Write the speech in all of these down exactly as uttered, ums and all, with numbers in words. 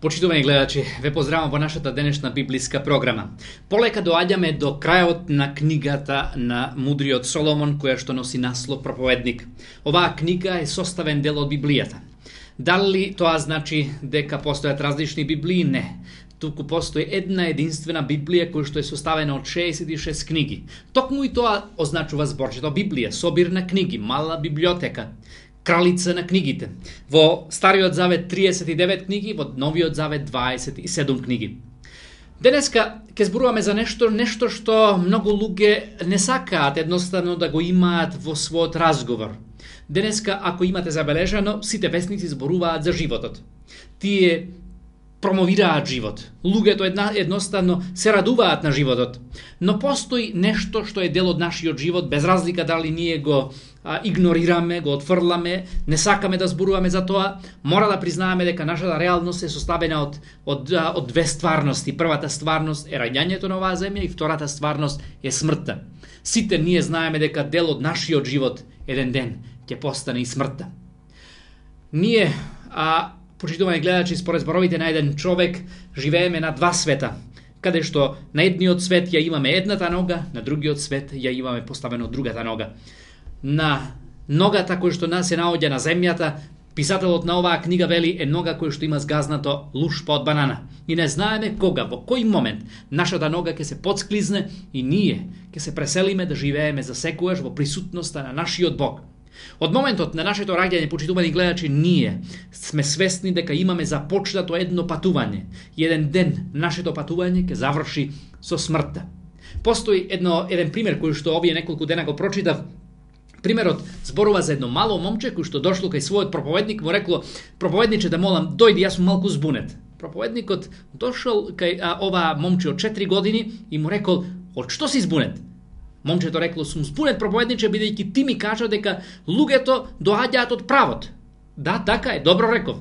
Почитувани гледачи, ве поздравам во нашата денешна библиска програма. Полека доаѓаме до крајот на книгата на мудриот Соломон, која што носи наслов Проповедник. Оваа книга е составен дел од Библијата. Дали тоа значи дека постојат различни Библии? Не. Туку постои една единствена Библија која што е составена од шеесет и шест книги. Токму и тоа означува зборчето Библија, собир на книги, мала библиотека, кралица на книгите. Во Стариот Завет триесет и девет книги, во Новиот Завет дваесет и седум книги. Денеска ќе зборуваме за нешто, нешто што многу луѓе не сакаат едноставно да го имаат во својот разговор. Денеска, ако имате забележано, сите весници зборуваат за животот. Тие промовираат живот. Луѓето една, едноставно се радуваат на животот. Но постои нешто што е дел од нашиот живот, без разлика дали ние го а, игнорираме, го отфрламе, не сакаме да зборуваме за тоа. Мора да признаеме дека нашата реалност е составена од, од, од две стварности. Првата стварност е раѓањето на оваа земја и втората стварност е смртта. Сите ние знаеме дека дел од нашиот живот еден ден ќе постане и смртта. Ние, а, почитувани гледачи, според зборовите на еден човек, живееме на два света, каде што на едниот свет ја имаме едната нога, на другиот свет ја имаме поставено другата нога. На ногата која што нас се наоѓа на земјата, писателот на оваа книга вели е нога која што има сгазнато лушпа од банана. И не знаеме кога, во кој момент нашата нога ќе се подсклизне и ние ќе се преселиме да живееме за секогаш во присутноста на нашиот Бог. Од моментот на нашето раѓање, почитувани гледачи, ние сме свесни дека имаме започнато едно патување. И еден ден нашето патување ќе заврши со смртта. Постои едно еден пример кој што овие неколку дена го прочитав. Примерот зборува за едно мало момче кој што дошло кај својот проповедник, му рекло: "Проповедниче, да молам, дојди, јас сум малку збунет." Проповедникот дошол кај а, ова момче од четири години и му рекол: "Од што си збунет?" Момчето рекло: "Сум збунет, проповедниче, бидејќи ти ми кажа дека луѓето доаѓаат од правот." "Да, така е, добро реков."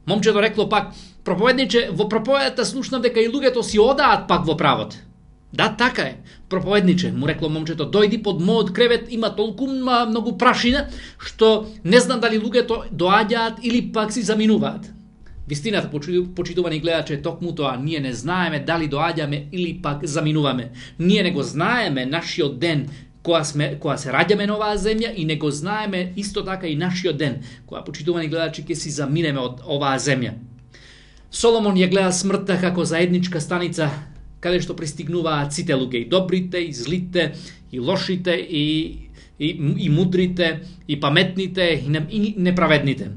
Момчето рекло пак: "Проповедниче, во проповедата слушнав дека и луѓето си одаат пак во правот." "Да, така е, проповедниче," му рекло момчето, "дојди под мојот кревет, има толку многу прашина што не знам дали луѓето доаѓаат или пак си заминуваат." Вистината, почитувани гледачи, е токму тоа. Ние не знаеме дали доаѓаме или пак заминуваме. Ние не го знаеме нашиот ден кога сме кога се раѓаме на оваа земја и не го знаеме исто така и нашиот ден кога, почитувани гледачи, ќе си заминеме од оваа земја. Соломон ја гледа смртта како заедничка станица каде што пристигнуваат сите луѓе, и добрите, и злите, и лошите, и, и, и мудрите, и паметните, и неправедните.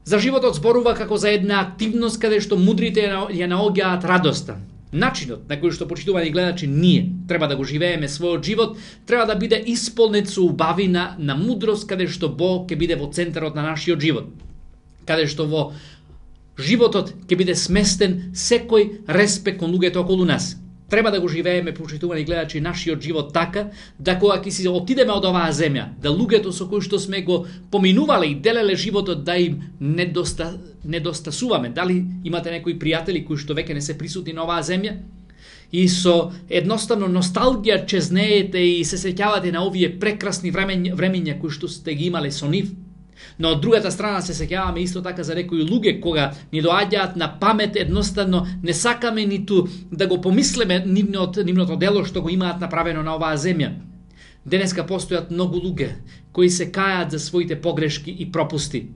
За животот зборува како за една активност каде што мудрите ја наоѓаат радоста. Начинот на кој што, почитувани гледачи, ние треба да го живееме својот живот треба да биде исполнет со убавина на мудрост, каде што Бог ќе биде во центарот на нашиот живот. Каде што во животот ќе биде сместен секој респект кон луѓето околу нас. Треба да го живееме, почитувани гледачи, нашиот живот така, да кога ќе си отидеме од оваа земја, да луѓето со кои што сме го поминувале и делеле животот, да им недоста, недостасуваме. Дали имате некои пријатели кои што веќе не се присутни на оваа земја? И со едноставно носталгија чезнеете и се сеќавате на овие прекрасни времења, времења кои што сте ги имале со нив. Но од другата страна се сеќаваме исто така за некои луѓе кога ни доаѓаат на памет, едноставно не сакаме ниту да го помислиме нивното, нивното дело што го имаат направено на оваа земја. Денеска постојат многу луѓе кои се кајат за своите погрешки и пропусти.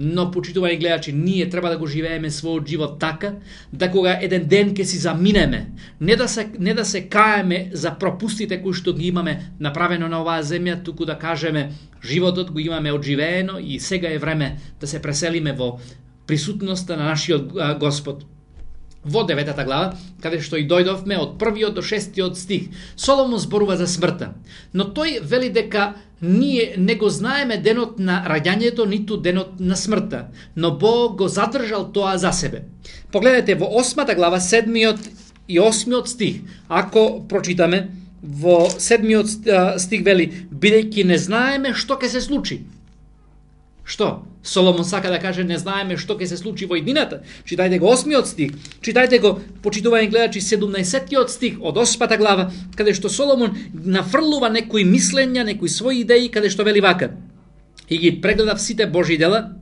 Но, почитувани гледачи, ние треба да го живееме својот живот така, да кога еден ден ќе си заминеме, не да се, не да се каеме за пропустите кои што ги имаме направено на оваа земја, туку да кажеме: животот го имаме одживеено и сега е време да се преселиме во присутноста на нашиот Господ. Во деветата глава, каде што и дојдовме, од првиот до шестиот стих, Соломон зборува за смртта. Но тој вели дека ние не го знаеме денот на раѓањето, ниту денот на смртта, но Бог го задржал тоа за себе. Погледнете во осмата глава, седмиот и осмиот стих. Ако прочитаме, во седмиот стих вели: "Бидејќи не знаеме што ќе се случи." Што? Соломон сака да каже не знаеме што ќе се случи во иднината. Читајте го осмиот стих. Читајте го, почитувани гледачи, седумнаесеттиот стих од осмата глава, каде што Соломон нафрлува некои мислења, некои своји идеи, каде што вели вака: "И ги прегледав сите Божји дела,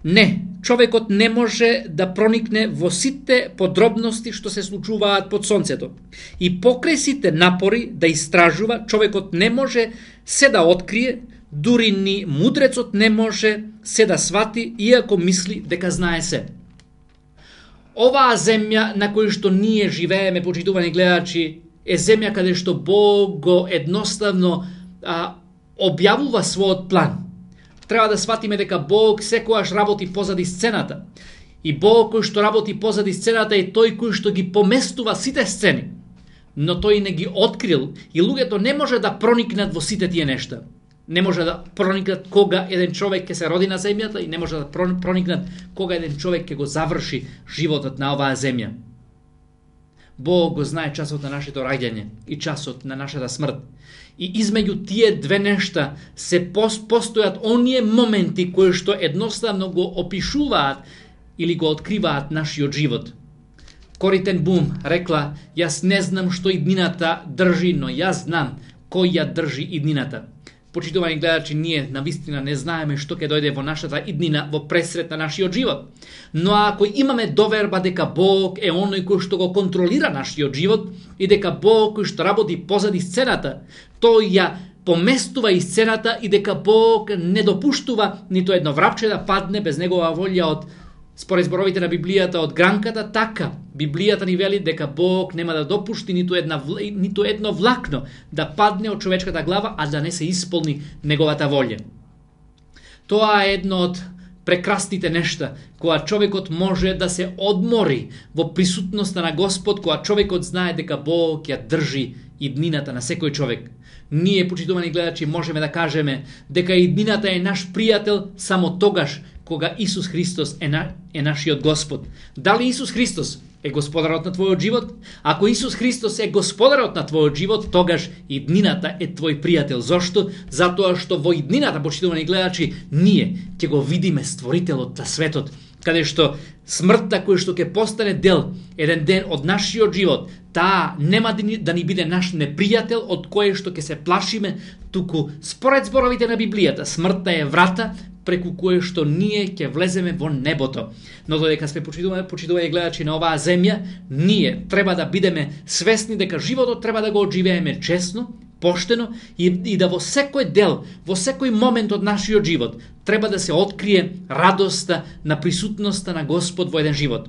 не човекот не може да проникне во сите подробности што се случуваат под сонцето. И покрај сите напори да истражува, човекот не може се да открие, дури ни мудрецот не може се да свати, иако мисли дека знае се. Оваа земја на која што ние живееме, почитувани гледачи, е земја каде што Бог го едноставно а, објавува својот план. Треба да сватиме дека Бог секогаш работи позади сцената. И Бог кој што работи позади сцената е тој кој што ги поместува сите сцени. Но тој не ги открил и луѓето не може да проникнат во сите тие нешта. Не може да проникнат кога еден човек ќе се роди на земјата и не може да проникнат кога еден човек ќе го заврши животот на оваа земја. Бог го знае часот на нашето раѓање и часот на нашата смрт. И измеѓу тие две нешта се постојат оние моменти кои што едноставно го опишуваат или го откриваат нашиот живот. Кори Тен Бум рекла: јас не знам што иднината држи, но јас знам кој ја држи иднината. Почитувани гледачи, ние навистина не знаеме што ќе дојде во нашата иднина во пресрет на нашиот живот. Но ако имаме доверба дека Бог е оној кој што го контролира нашиот живот и дека Бог кој што работи позади сцената, тој ја поместува и сцената и дека Бог не допуштува нито едно врапче да падне без негова волја од, според зборовите на Библијата, од гранката, така Библијата ни вели дека Бог нема да допушти ниту една ниту едно влакно да падне од човечката глава, а да не се исполни неговата волја. Тоа е едно од прекрасните нешта, кога човекот може да се одмори во присутноста на Господ, кога човекот знае дека Бог ја држи иднината на секој човек. Ние, почитувани гледачи, можеме да кажеме дека иднината е наш пријател само тогаш кога Исус Христос е, на, е нашиот Господ. Дали Исус Христос е господарот на твојот живот? Ако Исус Христос е господарот на твојот живот, тогаш иднината е твој пријател. Зошто? Затоа што во иднината, почитувани гледачи, ние ќе го видиме Створителот на светот, каде што смртта која што ќе постане дел еден ден од нашиот живот, таа нема да ни, да ни биде наш непријател од кое што ќе се плашиме, туку според зборовите на Библијата, смртта е врата преку кое што ние ќе влеземе во небото. Но додека сме почитувани, почитувани гледачи на оваа земја, ние треба да бидеме свесни дека животот треба да го одживееме честно, поштено и, и да во секој дел, во секој момент од нашиот живот треба да се открие радоста на присутноста на Господ во еден живот.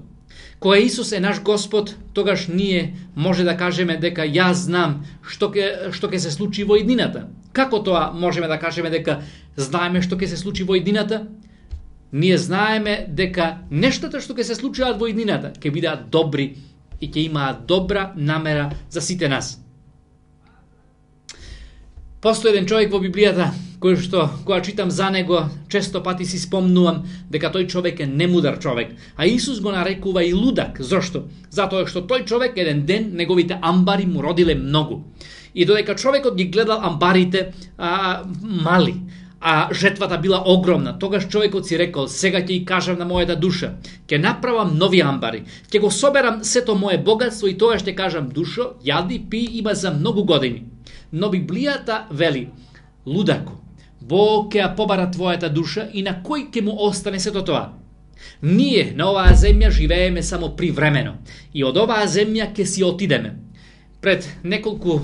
Кога Исус е наш Господ, тогаш ние може да кажеме дека јас знам што ќе што ќе се случи во иднината. Како тоа можеме да кажеме дека знаеме што ќе се случи во иднината? Ние знаеме дека нештата што ќе се случуваат во иднината ќе бидат добри и ќе имаат добра намера за сите нас. Постои еден човек во Библијата кој што, кога читам за него, често пати си спомнувам дека тој човек е немудар човек, а Исус го нарекува и лудак. Зошто? Затоа што тој човек еден ден неговите амбари му родиле многу. И додека човекот ги гледал амбарите а, мали, а жетвата била огромна, тогаш човекот си рекол: сега ќе и кажам на мојата душа, ќе направам нови амбари, ќе го соберам сето мое богатство и тогаш ќе кажам: душо, јади, пи, има за многу години. Но Библијата вели: лудако, Бог ќе ја побара твојата душа и на кој ќе му остане сето тоа? Ние на оваа земја живееме само привремено и од оваа земја ќе си отидеме. Пред неколку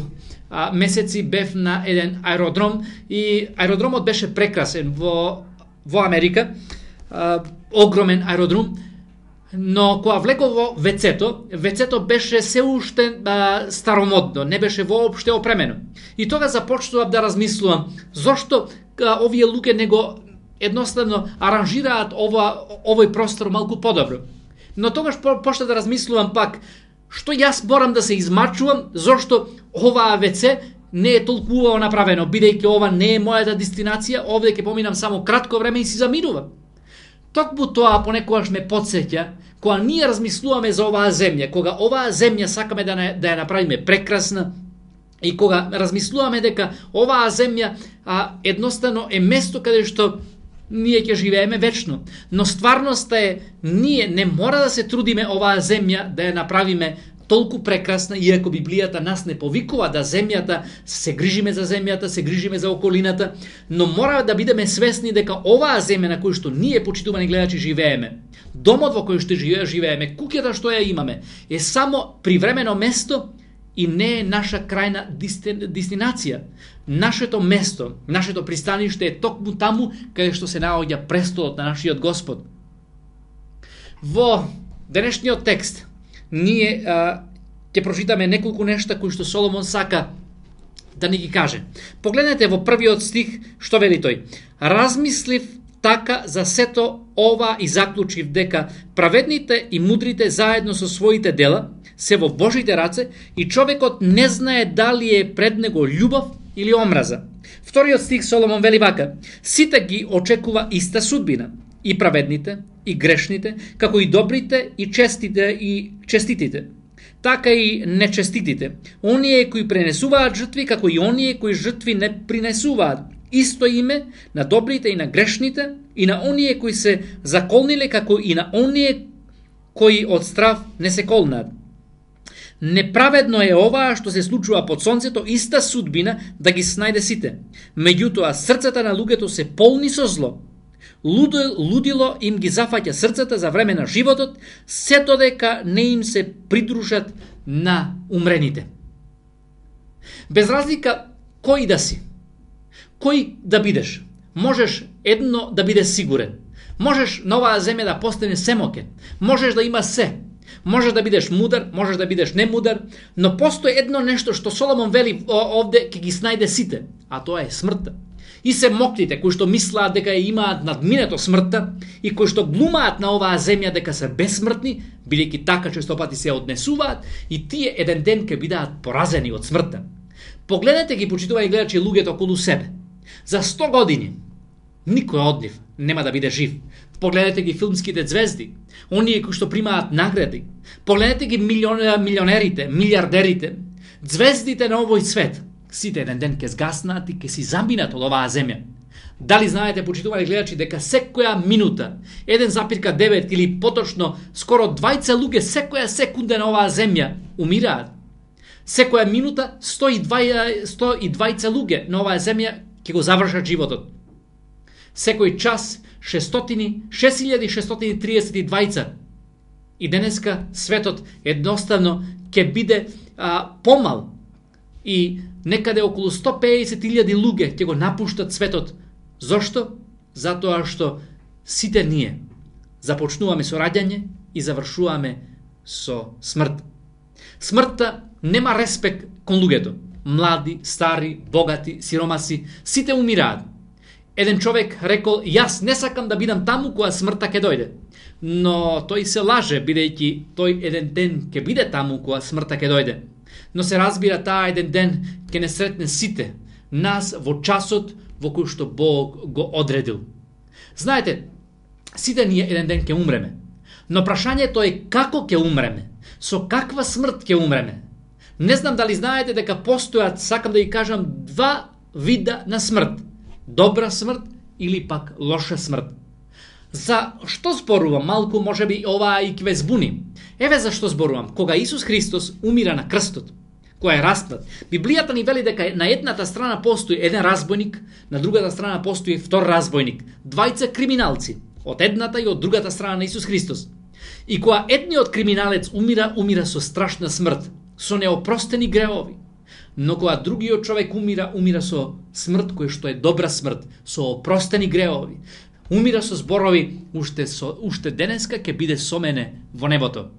а, месеци бев на еден аеродром и аеродромот беше прекрасен во, во Америка, а, огромен аеродром, но кога влеков во вецето, вецето беше се уште а, старомодно, не беше воопште опремено. И тога започнував да размислувам зошто а, овие луѓе него едноставно аранжираат ова, овој простор малку подобро. Но тогаш по, почна да размислувам пак што јас морам да се измачувам, зошто оваа веце не е толку убаво направено, бидејќи ова не е мојата дестинација, овде ќе поминам само кратко време и си заминувам. Токму тоа понекогаш ме потсеќа кога ние размислуваме за оваа земја, кога оваа земја сакаме да, не, да ја направиме прекрасна и кога размислуваме дека оваа земја а, едноставно е место каде што ние ќе живееме вечно. Но стварноста е, ние не мора да се трудиме оваа земја да ја направиме толку прекрасна, иако Библијата нас не повикува да земјата, се грижиме за земјата, се грижиме за околината, но мора да бидеме свесни дека оваа земја на која што ние, почитувани гледачи, живееме, домот во кој што живееме, куќата што ја имаме, е само привремено место и не е наша крајна дестинација. Нашето место, нашето пристаниште е токму таму каде што се наоѓа престолот на нашиот Господ. Во денешниот текст ние а, ќе прочитаме неколку нешта кои што Соломон сака да ни ги каже. Погледнете во првиот стих што вели тој: размислив така за сето ова и заклучив дека праведните и мудрите заедно со своите дела се во Божите раце и човекот не знае дали е пред него љубов или омраза. Вториот стих Соломон вели вака: сите ги очекува иста судбина, и праведните, и грешните, како и добрите, и честите, и честитите, така и нечеститите, оние кои пренесуваат жртви, како и оние кои жртви не принесуваат. Исто име на добрите и на грешните, и на оние кои се заколниле, како и на оние кои од страв не се колнат. Неправедно е оваа што се случува под сонцето, иста судбина да ги снајде сите. Меѓутоа, срцата на луѓето се полни со зло. Лудило им ги зафаќа срцата за време на животот, сето дека не им се придружат на умрените. Без разлика кој да си, кој да бидеш, можеш едно да бидеш сигурен. Можеш на оваа земја да постане семокен, можеш да има се, можеш да бидеш мудар, можеш да бидеш немудар, но постои едно нешто што Соломон вели овде ќе ги снајде сите, а тоа е смртта. И се моклите кои што мислаат дека ја имаат надминето смртта и кои што глумаат на оваа земја дека се безсмртни, бидејќи така често пати се однесуваат, и тие еден ден ќе бидат поразени од смртта. Погледнете ги, почитувајќи гледачи, луѓето околу себе. За сто години никој од нив нема да биде жив. Погледнете ги филмските звезди, оние кои што примаат награди. Погледнете ги милионерите, милиардерите, звездите на овој свет. Сите еден ден ќе згаснат и ќе си заминат од оваа земја. Дали знаете, почитувани гледачи, дека секоја минута, еден запирка девет или поточно скоро двајца луѓе секоја секунда на оваа земја умираат. Секоја минута сто и двајца луѓе на оваа земја ќе го завршат животот. Секој час шест илјади шестстотини и триесет и двајца. И денеска светот едноставно ќе биде а, помал и некаде околу сто песет илјади луѓе ќе го напуштат светот. Зошто? Затоа што сите ние започнуваме со раѓање и завршуваме со смрт. Смртта нема респект кон луѓето. Млади, стари, богати, сиромаси, сите умираат. Еден човек рекол: јас не сакам да бидам таму кога смртта ќе дојде. Но тој се лаже, бидејќи тој еден ден ќе биде таму кога смртта ќе дојде. Но се разбира, таа еден ден ќе не сретне сите нас во часот во кој што Бог го одредил. Знаете, сите ние еден ден ќе умреме. Но прашањето е како ќе умреме? Со каква смрт ќе умреме? Не знам дали знаете дека постојат, сакам да ги кажам, два вида на смрт. Добра смрт или пак лоша смрт. За што зборувам? Малку можеби оваа и ќе ве збуни. Еве зашто зборувам. Кога Исус Христос умира на крстот, кој е распнат, Библијата ни вели дека на едната страна постои еден разбойник, на другата страна постои втор разбойник. Двајца криминалци, од едната и од другата страна на Исус Христос. И кога едниот криминалец умира, умира со страшна смрт, со неопростени гревови. Но кога другиот човек умира, умира со смрт која што е добра смрт, со опростени гревови. Умира со зборови: уште, со, уште денеска ќе биде со мене во небото.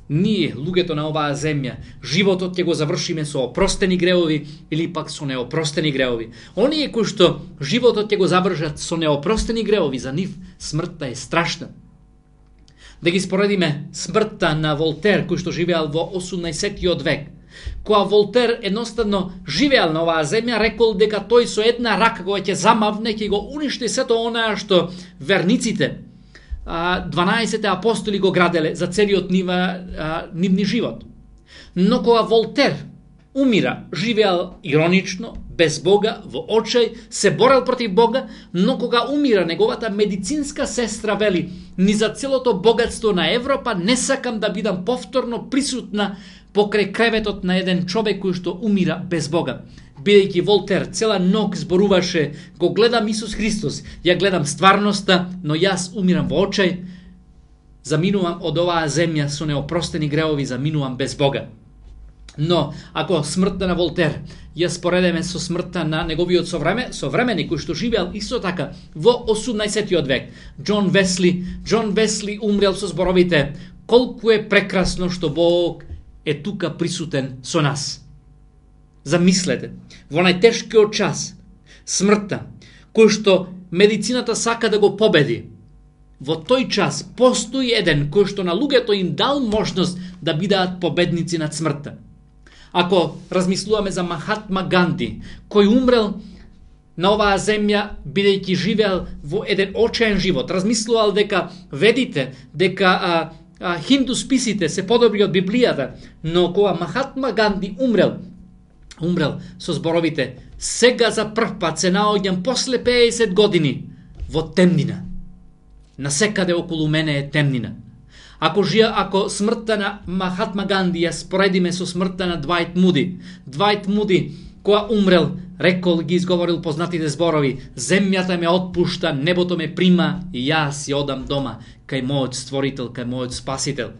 Ние, луѓето на оваа земја, животот ќе го завршиме со опростени гревови или пак со неопростени гревови. Оние кои што животот ќе го завршат со неопростени гревови, за нив смртта е страшна. Да ги споредиме смртта на Волтер, кој што живеал во осумнаесеттиот век. Кога Волтер едноставно живеал на оваа земја, рекол дека тој со една рака која ќе замавне, ќе го уништи сето онаа што верниците, дванаесетте апостоли го граделе за целиот нива, нивни живот. Но кога Волтер умира, живеал иронично, без Бога, во очај, се борел против Бога, но кога умира неговата медицинска сестра вели: ни за целото богатство на Европа не сакам да бидам повторно присутна покрај креветот на еден човек кој што умира без Бога. Бидејќи Волтер цела ног зборуваше: го гледам Исус Христос, ја гледам стварноста, но јас умирам во очај, заминувам од оваа земја со неопростени греови, заминувам без Бога. Но, ако смртта на Волтер ја споредеме со смртта на неговиот совреме, современи кој што живеал исто така во осумнаесеттиот век, Џон Весли, Џон Весли умрел со зборовите: колку е прекрасно што Бог е тука присутен со нас. Замислете, во најтешкиот час, смртта, кој што медицината сака да го победи, во тој час постои еден кој што на луѓето им дал можност да бидат победници над смртта. Ако размислуваме за Махатма Ганди, кој умрел на оваа земја бидејќи живеел во еден очаен живот, размислувал дека ведите, дека а, а, хинду списите се подобри од Библијата, но кога Махатма Ганди умрел, умрел со зборовите: сега за прв пат се наоѓам после пеесет години во темнина. Насекаде околу мене е темнина. Ако жија, ако смртта на Махатма Ганди ја споредиме со смртта на Двајт Муди, Двајт Муди кога умрел, рекол, ги изговорил познатите зборови: земјата ме отпушта, небото ме прима и јас ја одам дома кај мојот створител, кај мојот спасител.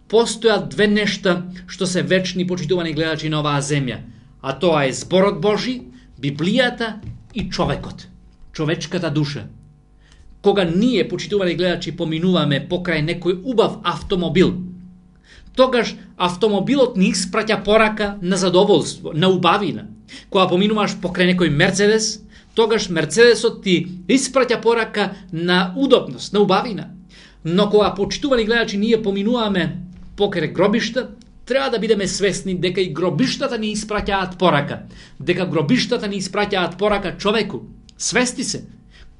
Постојат две нешта што се вечни, почитувани гледачи на оваа земја, а тоа е зборот Божи, Библијата и човекот, човечката душа. Кога ние, почитувани гледачи, поминуваме покрај некој убав автомобил, тогаш автомобилот ни испраќа порака на задоволство, на убавина. Кога поминуваш покрај некој Мерцедес, тогаш Мерцедесот ти испраќа порака на удобност, на убавина. Но кога, почитувани гледачи, ние поминуваме покрај гробишта, треба да бидеме свесни дека и гробиштата ни испраќаат порака, дека гробиштата ни испраќаат порака човеку. Свести се,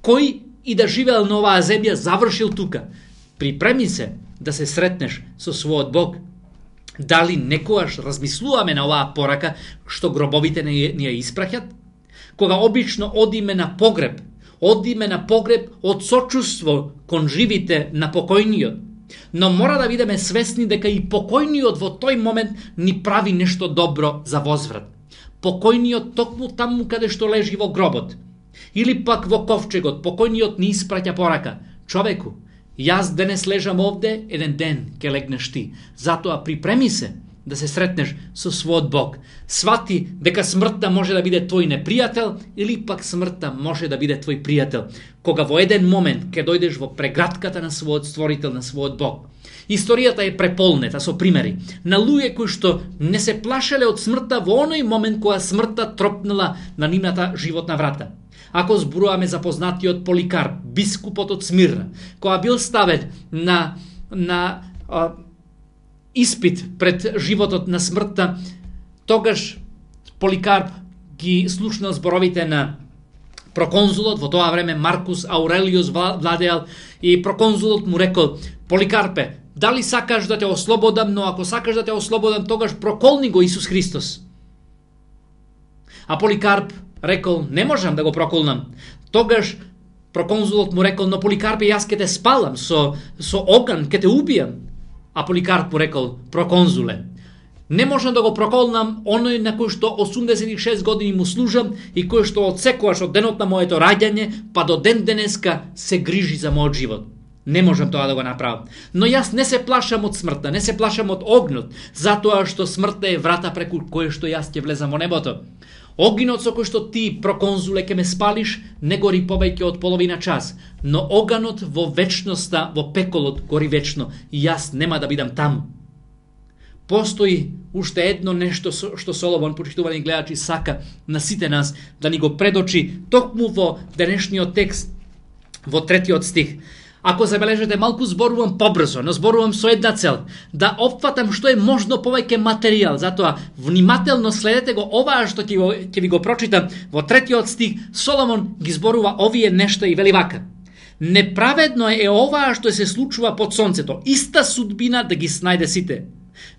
кој и да живеел на оваа земја, завршил тука. Припреми се да се сретнеш со својот Бог. Дали некогаш размислуваме на оваа порака што гробовите ни ја испраќат? Кога обично одиме на погреб, одиме на погреб од сочувство кон живите на покојниот. Но мора да бидеме свесни дека и покојниот во тој момент ни прави нешто добро за возврат. Покојниот токму таму каде што лежи во гробот, или пак во ковчегот, покојниот ни испраќа порака: човеку, јас денес лежам овде, еден ден ќе легнеш ти. Затоа припреми се да се сретнеш со својот Бог. Свати дека смртта може да биде твој непријател или пак смртта може да биде твој пријател. Кога во еден момент ќе дојдеш во прегратката на својот створител, на својот Бог. Историјата е преполнета со примери на луѓе кои што не се плашеле од смртта во оној момент кога смртта тропнала на нивната животна врата. Ако зборуваме за познатиот Поликарп, бискупот од Смирна, кога бил ставен на, на а, испит пред животот на смртта, тогаш Поликарп ги слушнал зборовите на проконзулот, во тоа време Маркус Аурелиус владеал, и проконзулот му рекол: Поликарпе, дали сакаш да те ослободам, но ако сакаш да те ослободам, тогаш проколни го Исус Христос. А Поликарп рекол: не можам да го проколнам. Тогаш проконзулот му рекол: но Поликарпе, јас ке те спалам со, со оган, ке те убијам. А Поликарп му рекол: проконзуле, не можам да го проколнам оној на кој што осумдесет и шест години му служам и кој што од секојаш од денот на моето раѓање па до ден денеска се грижи за мојот живот. Не можам тоа да го направам. Но јас не се плашам од смртта, не се плашам од огнот, затоа што смртта е врата преку кој што јас ќе влезам во небото. Огинот со кој што ти, проконзуле, ке ме спалиш, не гори повеќе од половина час, но оганот во вечноста, во пеколот, гори вечно и јас нема да бидам таму. Постои уште едно нешто што Соломон, почитувани гледачи, сака на сите нас да ни го предочи токму во денешниот текст, во третиот стих. Ако забележите, малку зборувам побрзо, но зборувам со една цел, да опфатам што е можно повеќе материјал. Затоа внимателно следете го оваа што ќе, го, ќе ви го прочитам. Во третиот стих Соломон ги зборува овие нешта и вели вака: неправедно е оваа што се случува под сонцето, иста судбина да ги снајде сите.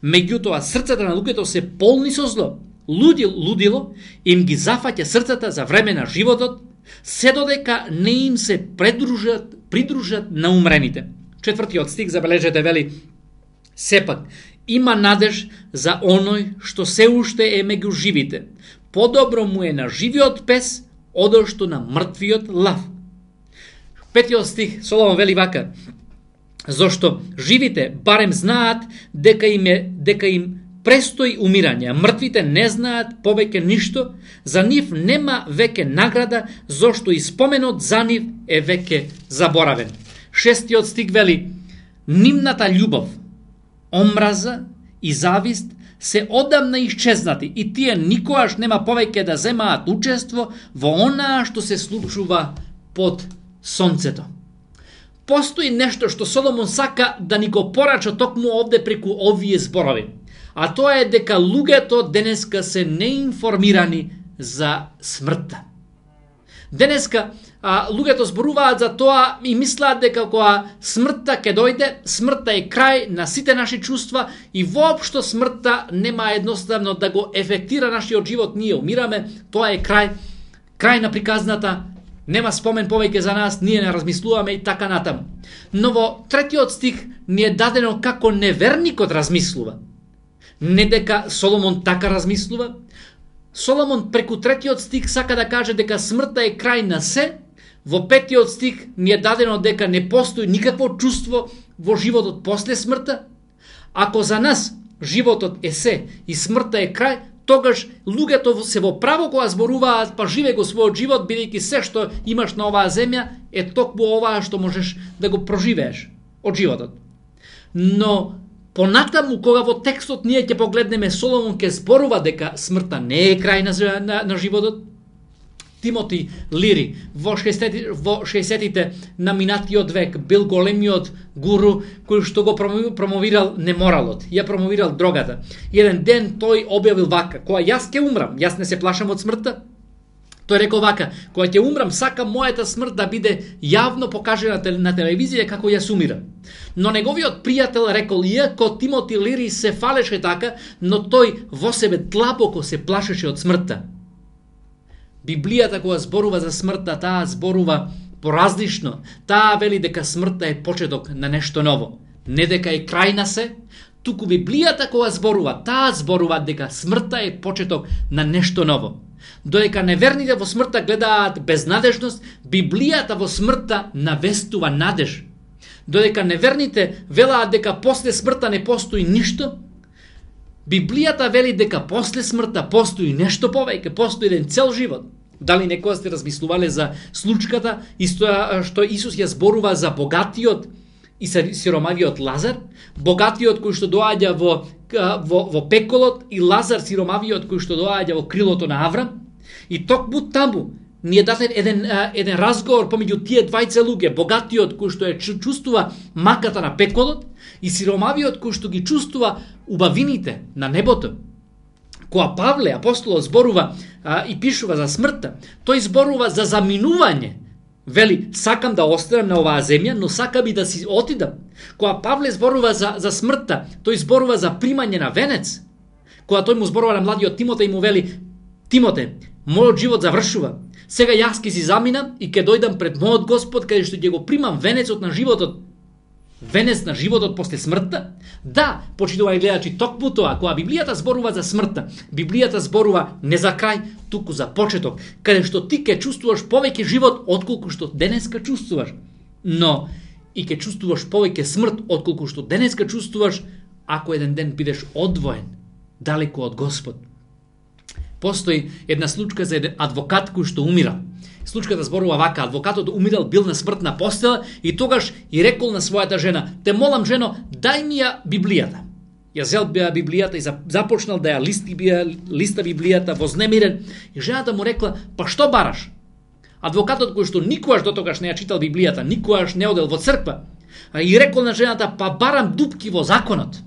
Меѓутоа срцата на луѓето се полни со зло. лудил, лудило им ги зафаќа срцата за време на животот, се додека не им се придружат, придружат на умрените. Четвртиот стих, забележете, вели: сепак има надеж за оној што се уште е меѓу живите. Подобро му е на живиот пес, одошто на мртвиот лав. Петиот стих, Соломон вели вака: зошто живите барем знаат дека им е, дека им престои умирање, а мртвите не знаат повеќе ништо, за нив нема веќе награда, зошто и споменот за нив е веќе заборавен. Шестиот стих вели: нивната љубов, омраза и завист се одамна исчезнати и тие никогаш нема повеќе да земаат учество во онаа што се случува под сонцето. Постои нешто што Соломон сака да ни го порача токму овде преку овие зборови. А тоа е дека луѓето денеска се неинформирани за смртта. Денеска а, луѓето зборуваат за тоа и мислат дека кога смртта ќе дојде, смртта е крај на сите наши чувства и воопшто смртта нема едноставно да го ефектира нашиот живот. Ние умираме, тоа е крај, крај на приказната, нема спомен повеќе за нас, ние не размислуваме и така натаму. Но во третиот стих ни е дадено како неверникот размислува. Не дека Соломон така размислува. Соломон преку третиот стих сака да каже дека смртта е крај на се. Во петиот стих ни е дадено дека не постои никакво чувство во животот после смртта. Ако за нас животот е се и смртта е крај, тогаш луѓето се во право кога зборуваат: па живе го својот живот, бидејќи се што имаш на оваа земја е токму оваа што можеш да го проживееш од животот. Но понатаму, кога во текстот ние ќе погледнеме, Соломон ќе зборува дека смртта не е крај на, на, на животот. Тимоти Лири во шеесеттите на минатиот век бил големиот гуру кој што го промовирал неморалот, ја промовирал дрогата. Еден ден тој објавил вака: кога јас ќе умрам, јас не се плашам од смртта. Тој рекол вака: кога ќе умрам, сакам мојата смрт да биде јавно покажена на телевизија како јас умирам. Но неговиот пријател рекол: иако Тимоти Лири се фалеше така, но тој во себе длабоко се плашеше од смртта. Библијата кога зборува за смртта, таа зборува поразлично. Таа вели дека смртта е почеток на нешто ново. Не дека е крај на се, туку Библијата кога зборува, таа зборува дека смртта е почеток на нешто ново. Додека неверните во смртта гледаат безнадежност, Библијата во смртта навестува надеж. Додека неверните велаат дека после смртта не постои ништо, Библијата вели дека после смртта постои нешто повеќе, постои еден цел живот. Дали некоја сте размислувале за случката исто што Исус ја зборува за богатиот и сиромавиот Лазар, богатиот кој што доаѓа во, во, во пеколот и Лазар сиромавиот кој што доаѓа во крилото на Аврам, и токму таму ни е даден еден, еден разговор помеѓу тие двајца луѓе, богатиот кој што е чувствува маката на пеколот и сиромавиот кој што ги чувствува убавините на небото. Кога Павле, апостолот, зборува а, и пишува за смртта, тој зборува за заминување. Вели: сакам да останам на оваа земја, но сакам и да си отидам. Кога Павле зборува за, за смртта, тој зборува за примање на венец. Кога тој му зборува на младиот Тимоте и му вели: Тимоте, мојот живот завршува. Сега јас ќе си заминам и ќе дојдам пред мојот Господ, каде што ќе го примам венецот на животот. Венец на животот после смртта? Да, почитувани гледачи, токму тоа, кога Библијата зборува за смртта, Библијата зборува не за крај, туку за почеток, каде што ти ќе чувствуваш повеќе живот отколку што денеска чувствуваш. Но и ќе чувствуваш повеќе смрт отколку што денеска чувствуваш, ако еден ден бидеш одвоен далеку од Господ. Постои една случка за еден адвокат кој што умира. Случката зборува вака: адвокатот умирал, бил на смртна постела и тогаш и рекол на својата жена: те молам, жено, дај ми ја Библијата. Ја зел Библијата и започнал да ја листи, листа Библијата вознемирен, и жената му рекла: па што бараш? Адвокатот кој што никогаш дотогаш не ја читал Библијата, никогаш не одел во црква, и рекол на жената: па барам дупки во законот.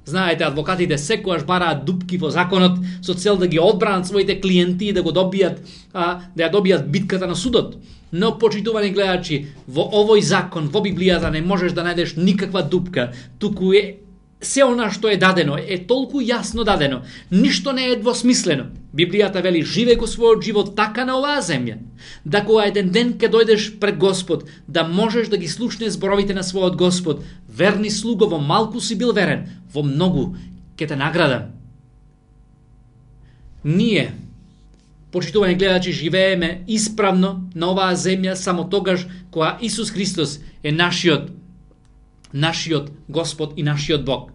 Знаете, адвокатите секогаш бараат дупки во законот со цел да ги одбранат своите клиенти и да го добијат, а, да ја добијат битката на судот. Но, почитувани гледачи, во овој закон, во Библијата не можеш да најдеш никаква дупка, туку е се она што е дадено е толку јасно дадено, ништо не е двосмислено. Библијата вели: живеј го својот живот така на оваа земја, да кога еден ден ке дојдеш пред Господ, да можеш да ги слушнеш зборовите на својот Господ: верни слуго, во малку си бил верен, во многу ќе те наградам. Ние, почитувани гледачи, живееме исправно на оваа земја само тогаш кога Исус Христос е нашиот нашиот Господ и нашиот Бог.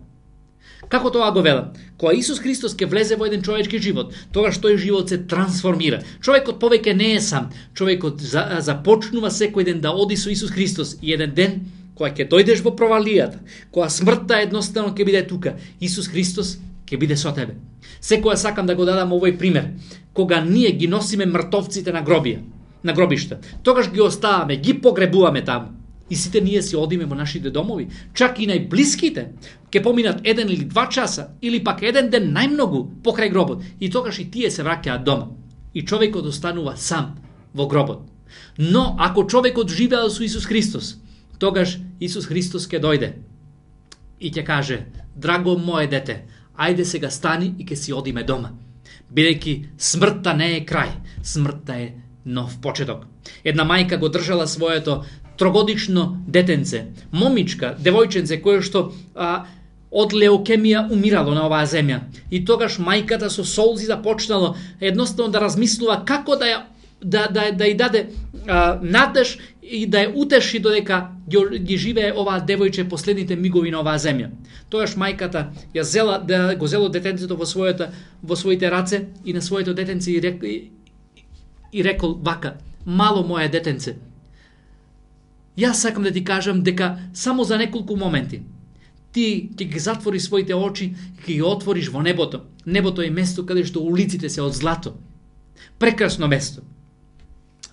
Како тоа го велам? Кога Исус Христос ќе влезе во еден човечки живот, тогаш тој живот се трансформира. Човекот повеќе не е сам. Човекот за, започнува секој ден да оди со Исус Христос и еден ден кога ќе дојдеш во провалијата, кога смртта едноставно ќе биде тука, Исус Христос ќе биде со тебе. Секоја сакам да го дадам овој пример. Кога ние ги носиме мртовците на гробија, на гробишта, тогаш ги оставаме, ги погребуваме таму. И сите ние си одиме во нашите домови, чак и најблиските ќе поминат еден или два часа, или пак еден ден најмногу покрај гробот, и тогаш и тие се враќаат дома. И човекот останува сам во гробот. Но ако човекот живеел со Исус Христос, тогаш Исус Христос ќе дојде и ќе каже: драго мое дете, ајде сега стани и ќе си одиме дома. Бидејќи смртта не е крај, смртта е нов почеток. Една мајка го држала своето трогодично детенце, момичка, девојченце, кое што а, од леукемија умирало на оваа земја. И тогаш мајката со солзи започнало едноставно да размислува како да ја да да да ја даде а, надеж и да ја утеши додека ги, ги живее оваа девојче последните мигови на оваа земја. Тогаш мајката ја зела да го зело детенцето во својата во своите раце и на своето детенце и, рек, и, и рекол вака: мало мое детенце, јас сакам да ти кажам дека само за неколку моменти ти ќе ги затвори своите очи и ќе ги отвориш во небото. Небото е место каде што улиците се од злато. Прекрасно место.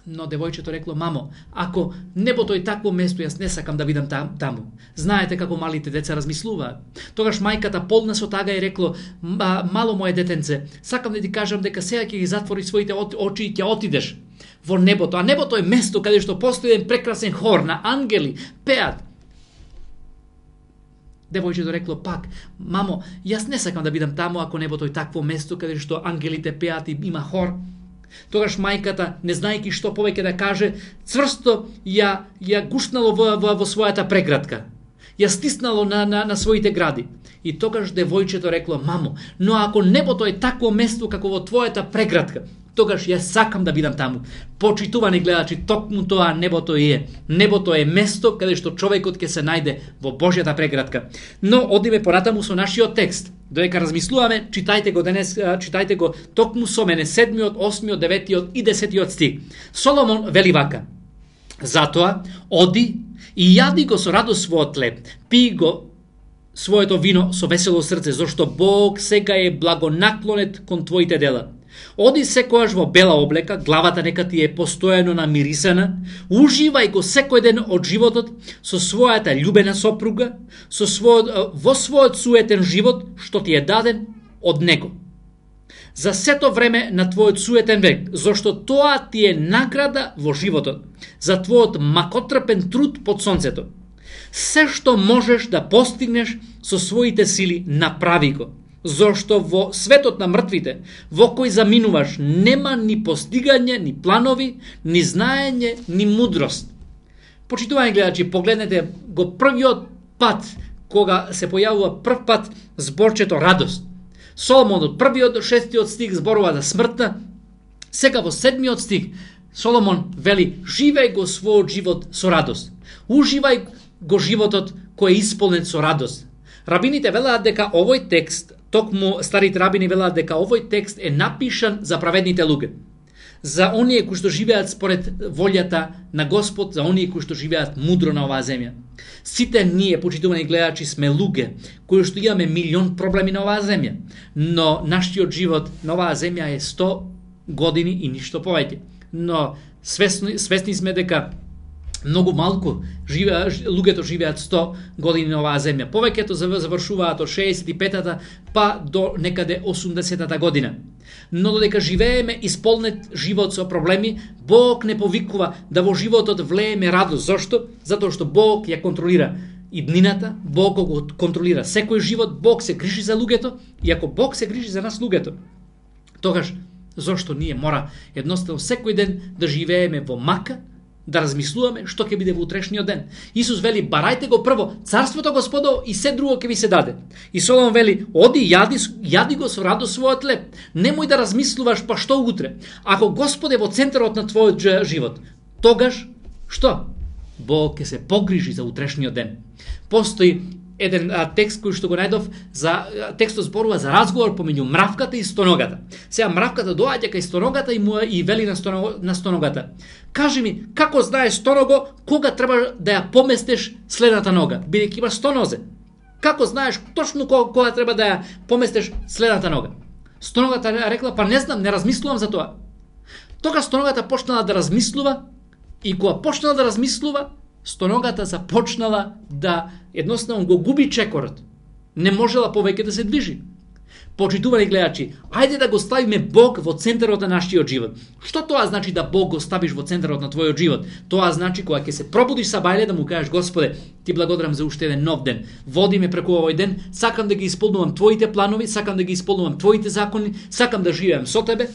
Но девојчето рекло: мамо, ако небото е такво место, јас не сакам да видам там, таму. Знаете како малите деца размислуваат. Тогаш мајката полна со тага и рекло: мало мое детенце, сакам да ти кажам дека сега ќе ги затвори своите очи и ќе отидеш во небото. А небото е место каде што постои еден прекрасен хор на ангели, пеат. Девојчето рекло пак: мамо, јас не сакам да бидам таму ако небото е такво место каде што ангелите пеат и има хор. Тогаш мајката, не знаејќи што повеќе да каже, цврсто ја ја гушнало во, во, во својата преградка. Ја стиснало на, на, на своите гради. И тогаш девојчето рекло: мамо, но ако небото е такво место како во твојата преградка, тогаш јас сакам да бидам таму. Почитувани гледачи, токму тоа небото е. Небото е место каде што човекот ќе се најде во Божјата преградка. Но одиме понатаму со нашиот текст. Додека размислуваме, читајте го денес, читајте го токму со мене седмиот, осмиот, деветиот и десетиот стих. Соломон вели вака: затоа оди и јади го со радост својот хлеб, пи го своето вино со весело срце, зашто Бог сега е благонаклонет кон твоите дела. Оди секојаш во бела облека, главата нека ти е постојано намирисана, уживај го секој ден од животот со својата љубена сопруга, со својот, во својот суетен живот што ти е даден од него. За сето време на твојот суетен век, зашто тоа ти е награда во животот, за твојот макотрпен труд под сонцето. Се што можеш да постигнеш со своите сили, направи го. Зошто во светот на мртвите, во кој заминуваш, нема ни постигање, ни планови, ни знаење, ни мудрост. Почитувани гледачи, погледнете го првиот пат, кога се појавува прв пат зборчето радост. Соломон од првиот до шестиот стих зборува за смртта, сега во седмиот стих Соломон вели: живеј го својот живот со радост. Уживај го животот кој е исполнет со радост. Рабините велаат дека овој текст, токму старите рабини велаат дека овој текст е напишан за праведните луѓе, за оние кои што живеат според волјата на Господ, за оние кои што живеат мудро на оваа земја. Сите ние, почитувани гледачи, сме луѓе кои што имаме милион проблеми на оваа земја, но нашиот живот на оваа земја е сто години и ништо повеќе. Но свесни, свесни сме дека многу малку живе, луѓето живеат сто години на оваа земја. Повеќето завршуваат од шеесет и петата па до некаде осумдесетата година. Но додека живееме исполнет живот со проблеми, Бог не повикува да во животот влееме радост. Зошто? Затоа што Бог ја контролира и днината, Бог го контролира секој живот, Бог се грижи за луѓето, и ако Бог се грижи за нас луѓето, тогаш зошто ние мора едноставно секој ден да живееме во мака, да размислуваме што ќе биде во утрешниот ден. Исус вели, барајте го прво царството Господово и се друго ќе ви се даде. И Соломон вели, оди јади, јади го со радост својот леб. Немој да размислуваш па што утре. Ако Господ е во центарот на твојот живот, тогаш што? Бог ќе се погрижи за утрешниот ден. Постои еден а, текст кој што го најдов, за а, текстот зборува за разговор помеѓу мравката и стоногата. Сега мравката доаѓа кај стоногата и му и вели на, стоно, на стоногата: кажи ми, како знаеш, стоного, кога треба да ја поместиш следната нога, бидејќи имаш сто нозе? Како знаеш точно кога, кога треба да ја поместиш следната нога? Стоногата рекла, па не знам, не размислувам за тоа. Тогаш стоногата почнала да размислува, и кога почнала да размислува, стоногата започнала да едноставно го губи чекорот. Не можела повеќе да се движи. Почитувани гледачи, ајде да го ставиме Бог во центарот на нашиот живот. Што тоа значи да Бог го ставиш во центарот на твојот живот? Тоа значи кога ќе се пробудиш сабајле да му кажеш: Господе, ти благодарам за уште еден нов ден. Води ме преку овој ден, сакам да ги исполнувам твоите планови, сакам да ги исполнувам твоите закони, сакам да живеам со тебе.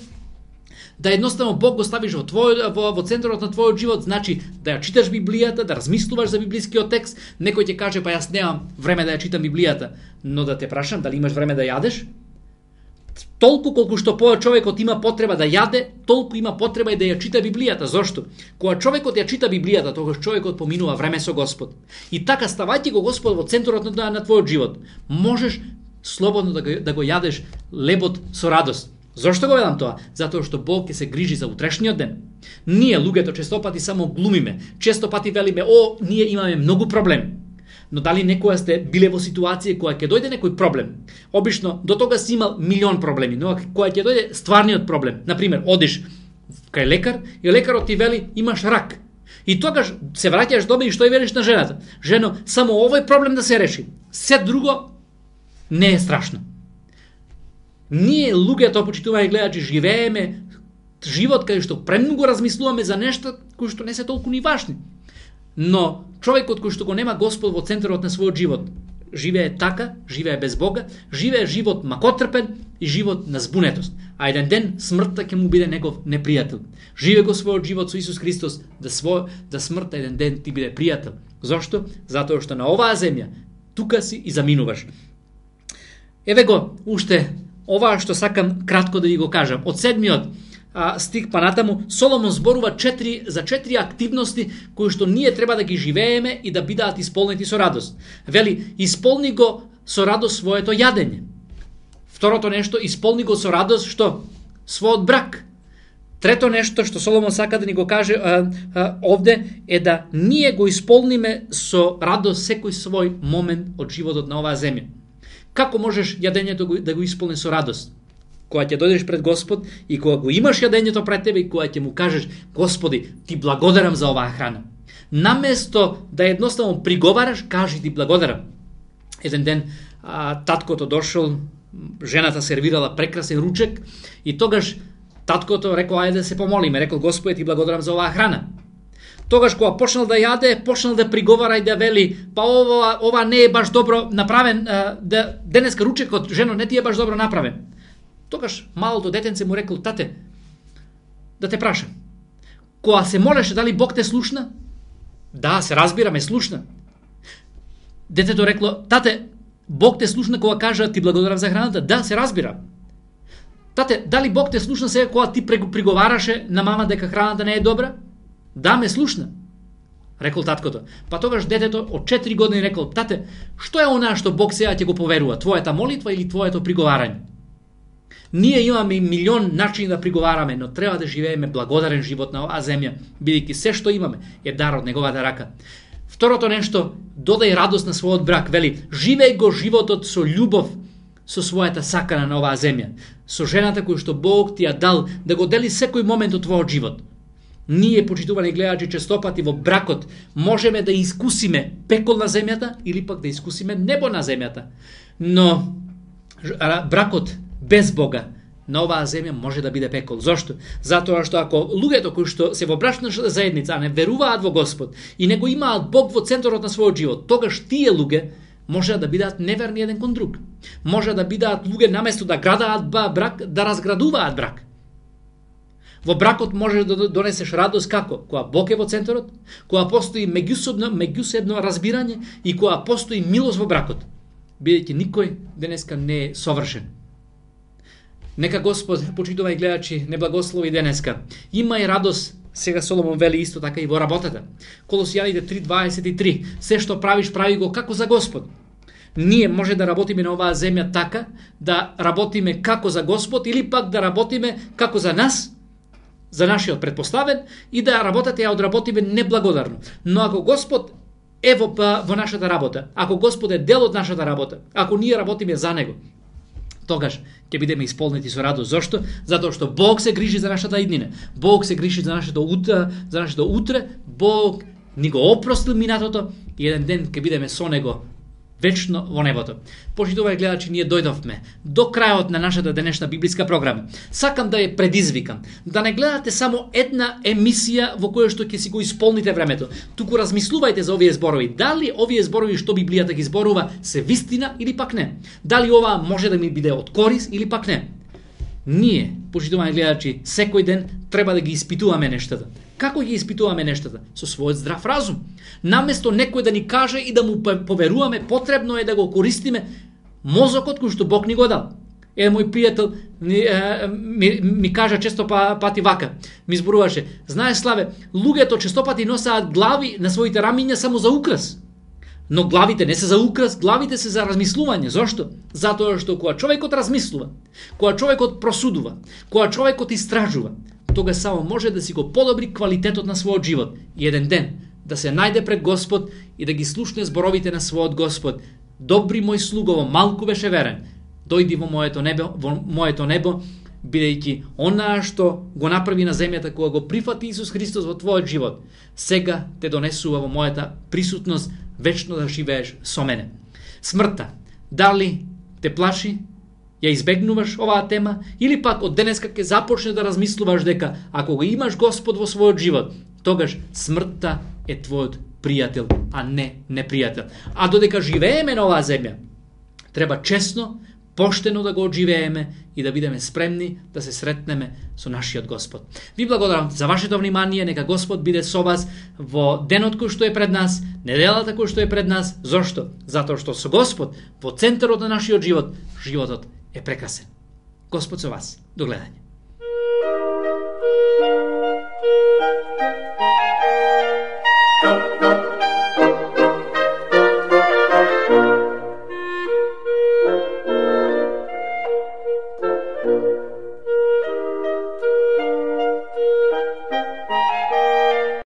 Да едноставно Бог го ставиш во твој во, во центарот на твојот живот, значи да ја читаш Библијата, да размислуваш за библискиот текст. Некој ќе каже: па јас немам време да ја читам Библијата, но да те прашам, дали имаш време да јадеш? Толку колку што по човекот има потреба да јаде, толку има потреба и да ја чита Библијата. Зошто? Кога човекот ја чита Библијата, тогаш човекот поминува време со Господ. И така, ставајќи го Господ во центарот на, на твојот живот, можеш слободно да го, да го јадеш лебот со радост. Зошто го велам тоа? Затоа што Бог ќе се грижи за утрешниот ден. Ние, луѓето, често пати само глумиме. Често пати велиме: о, ние имаме многу проблеми. Но дали некоја сте биле во ситуација која ќе дојде некој проблем? Обично, до тога си имал милион проблеми, но која ќе дојде стварниот проблем. Например, одиш кај лекар и лекарот ти вели: имаш рак. И тогаш се враќаш дома и што и велиш на жената? Жено, само овој проблем да се реши. Се друго не е страшно. Ние, луѓето, почитувани гледачи, живееме живот кај што премногу размислуваме за нешта кои што не се толку ни важни. Но човекот кој што го нема Господ во центарот на својот живот, живее така, живее без Бога, живее живот макотрпен и живот на збунетост. А еден ден смртта ќе му биде негов непријател. Живее го својот живот со Исус Христос, да свој да смртта еден ден ти биде пријател. Зошто? Затоа што на оваа земја тука си и заминуваш. Еве го уште ова што сакам кратко да ви го кажам. Од седмиот а, стих па натаму, Соломон зборува четири, за четири активности кои што ние треба да ги живееме и да бидат исполнети со радост. Вели: исполни го со радост своето јадење. Второто нешто, исполни го со радост што? Својот брак. Трето нешто што Соломон сака да ни го каже а, а, овде е да ние го исполниме со радост секој свој момент од животот на оваа земја. Како можеш јадењето да го исполни со радост? Кога ќе дојдеш пред Господ и кога го имаш јадењето пред тебе и кога ќе му кажеш: Господи, ти благодарам за оваа храна. Наместо да едноставно приговараш, кажи: ти благодарам. Еден ден а, таткото дошол, жената сервирала прекрасен ручек и тогаш таткото рекол: ајде да се помолиме. Рекол: Господи, ти благодарам за оваа храна. Тогаш кога почнал да јаде, почнал да приговара и да вели: па ова, ова не е баш добро направен, а, да, денеска ручекот, жено, не ти е баш добро направен. Тогаш малото детенце му рекол: тате, да те прашам, кога се молеше, дали Бог те слушна? Да, се разбира, ме слушна. Детето рекло: тате, Бог те слушна кога кажа: ти благодарам за храната? Да, се разбира. Тате, дали Бог те слушна сега кога ти приговараше на мама дека храната не е добра? Да, ме слушна. Рекол таткото. Па тогаш детето од четири години рекол: тате, што е она што Бог сега ќе го поверува? Твојата молитва или твоето приговарање? Ние имаме милион начини да приговараме, но треба да живееме благодарен живот на оваа земја, бидејќи се што имаме е дар од неговата рака. Второто нешто, додај радост на својот брак. Вели: живеј го животот со љубов со својата сакана на оваа земја, со жената која што Бог ти ја дал да го дели секој момент од твојот живот. Ние, почитувани гледачи, честопати во бракот можеме да искусиме пекол на земјата или пак да искусиме небо на земјата. Но бракот без Бога на оваа земја може да биде пекол. Зошто? Затоа што ако луѓето кои што се во брачна заедница, а не веруваат во Господ и не го имаат Бог во центарот на својот живот, тогаш тие луѓе може да бидат неверни еден кон друг. Може да бидат луѓе наместо да градаат брак, да разградуваат брак. Во бракот можеш да донесеш радост како? Кога Бог е во центарот, кога постои меѓусебно, меѓусебно разбирање и кога постои милост во бракот. Бидејќи никој денеска не е совршен. Нека Господ, почитувај гледачи, не благослови денеска. Има и радост, сега Соломон вели исто така и во работата. Колосијаните три дваесет и три. Се што правиш, прави го како за Господ. Ние може да работиме на оваа земја така, да работиме како за Господ или пак да работиме како за нас, за нашиот предпоставен, и да работата ја одработиме неблагодарно. Но ако Господ е во, во нашата работа, ако Господ е дел од нашата работа, ако ние работиме за Него, тогаш ќе бидеме исполнети со радост. Зошто? Затоа што Бог се грижи за нашата иднина. Бог се грижи за нашето утре, за нашето утре. Бог ни го опростил минатото и еден ден ќе бидеме со Него вечно во небото. Почитувај гледачи, ние дојдовме до крајот на нашата денешна библиска програма. Сакам да ја предизвикам да не гледате само една емисија во која што ќе си го исполните времето. Туку размислувајте за овие зборови. Дали овие зборови што Библијата ги зборува се вистина или пак не? Дали ова може да ми биде од корис или пак не? Ние, почитуваји гледачи, секој ден треба да ги испитуваме нештата. Како ги испитуваме нештата? Со својот здрав разум. Наместо некој да ни каже и да му поверуваме, потребно е да го користиме мозокот кој што Бог ни го дал. Е, мој пријател ми, ми, ми кажа често пати вака, ми зборуваше: знаеш, Славе, луѓето често пати носаат глави на своите рамиња само за украс. Но главите не се за украс, главите се за размислување. Зошто? Затоа што кога човекот размислува, кога човекот просудува, кога човекот истражува, тога само може да си го подобри квалитетот на својот живот и еден ден да се најде пред Господ и да ги слушне зборовите на својот Господ: добри мој слугово, малку беше верен, дојди во моето небо, во моето небо, бидејќи онаа што го направи на земјата кога го прифати Исус Христос во твојот живот, сега те донесува во мојата присутност вечно да живееш со мене. Смртта, дали те плаши? Ја избегнуваш оваа тема или пак од денеска ќе започне да размислуваш дека ако го имаш Господ во својот живот, тогаш смртта е твојот пријател, а не непријател. А додека живееме на оваа земја, треба честно, поштено да го одживееме и да бидеме спремни да се сретнеме со нашиот Господ. Ви благодарам за вашето внимание, нека Господ биде со вас во денот кој што е пред нас, неделата кој што е пред нас. Зошто? Затоа што со Господ во центарот на нашиот живот, животот е прекрасен. Господ со вас. До гледање.